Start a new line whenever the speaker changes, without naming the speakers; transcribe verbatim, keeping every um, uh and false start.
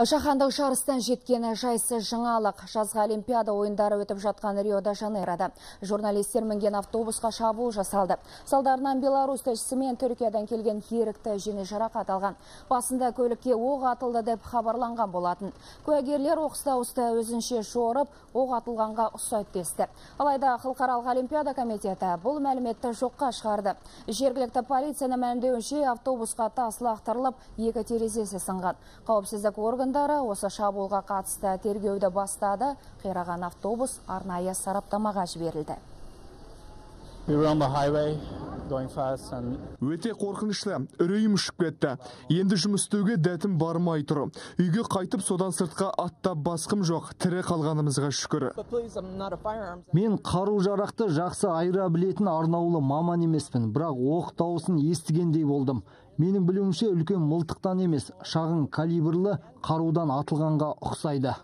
Жаһандық жарыстан жеткен жайсыз жаңалық. Жазғы Олимпиада ойындары өтіп жатқан Рио-де-Жанейрода журналистер мінген автобусқа шабуыл жасалды. Салдарынан Беларусь тілшісі мен Түркиядан келген ерікті жеңіл жарақат алған. Басында көлікке оқ атылды деп хабарланған болатын. Куәгерлер оқыста-ұсты өзінше жорып, оқ атылғанға ұқсайды десті. Алайда Халықаралық Олимпиада комитеті бұл мәліметті жоққа шығарды. Жергілікті полицияның мәлімдеуінше автобусқа тас лақтырылып, екі терезесі сынған. Қауіпсіздік органдары осы шабуылға қатысты тергеуді бастады. Қираған автобус арнайы сараптамаға жіберілді.
Өте қорқынышты, үрейім ұшып кетті. Енді жұмыс істеуге дәтім бармай тұр. Үйге қайтып содан сыртқа аттап басқым жоқ. Тірі қалғанымызға шүкір.
Мен қару-жарақты жақсы айыра білетін арнаулы маман емеспін, бірақ оқ дауысын естігендей болдым. Менің білуімше үлкен мылтықтан емес, шағын калибрлы қарудан атылғанға ұқсайды.